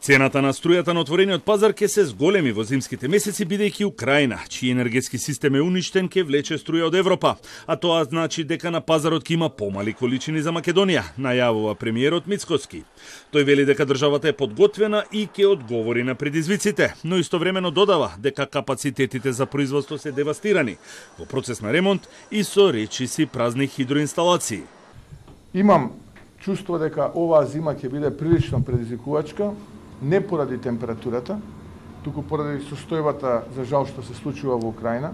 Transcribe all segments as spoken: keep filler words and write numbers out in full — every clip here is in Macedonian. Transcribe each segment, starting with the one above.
Цената на струјата на отворениот пазар ќе се зголеми во зимските месеци, бидејќи Украина, чиј енергетски систем е уништен, ќе влече струја од Европа, а тоа значи дека на пазарот ќе има помали количини за Македонија, најавува премиерот Мицкоски. Тој вели дека државата е подготвена и ќе одговори на предизвиците, но истовремено додава дека капацитетите за производство се девастирани, во процес на ремонт и со речиси празни хидроинсталации. Имам чувство дека оваа зима ќе биде прилично предизвикувачка, не поради температурата, туку поради состојбата за жал што се случува во Украина.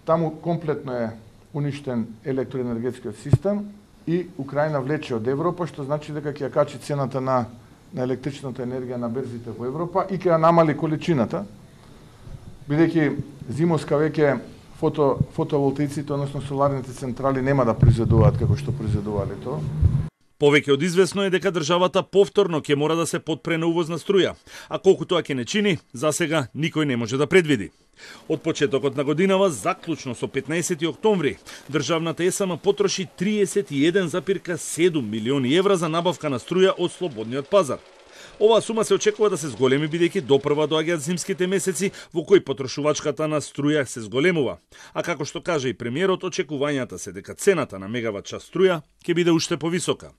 Таму комплетно е уништен електроенергетскиот систем и Украина влече од Европа, што значи дека ќе ја качи цената на, на електричната енергија на берзите во Европа и ќе ја намали количината, бидејќи зимоска веќе фото, фотоволтаиците, односно соларните централи нема да произведуваат како што произведувале тоа. Повеќе од известно е дека државата повторно ќе мора да се подпре на увозна струја, а колку тоа ќе не чини, засега никој не може да предвиди. Од почетокот на годинава, заклучно со петнаесети октомври, државната ЕСМ потроши триесет и еден зарез седум милиони евра за набавка на струја од слободниот пазар. Оваа сума се очекува да се зголеми бидејќи допрва доаѓаат зимските месеци во кои потрошувачката на струја се зголемува. А како што каже и премиерот, очекувањата се дека цената на мегават час струја ќе биде уште повисока.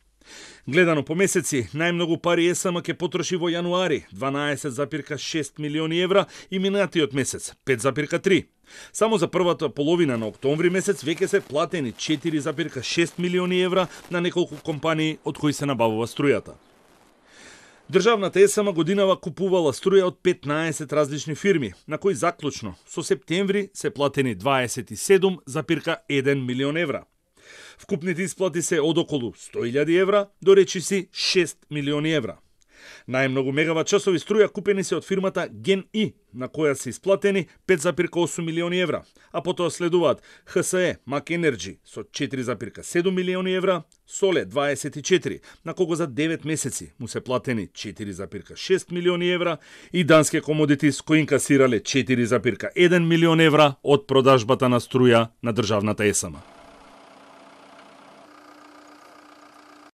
Гледано по месеци, најмногу пари ЕСМ ќе потроши во јануари дванаесет зарез шест милиони евра и минатиот месец пет зарез три. Само за првата половина на октомври месец веќе се платени четири зарез шест милиони евра на неколку компании од кои се набавува струјата. Државната ЕСМ годинава купувала струја од петнаесет различни фирми, на кои заклучно со септември се платени дваесет и седум зарез еден милион евра. Вкупните исплати се од околу сто илјади евра до речиси шест милиони евра. Најмногу мегават часови струја купени се од фирмата Ген-И, на која се исплатени пет зарез осум милиони евра, а потоа следуваат Х С Е, Мак Енерджи со четири зарез седум милиони евра, Соле дваесет и четири, на кого за девет месеци му се платени четири зарез шест милиони евра и Данске Комодитис кои инкасирале четири зарез еден милион евра од продажбата на струја на државната ЕСМ.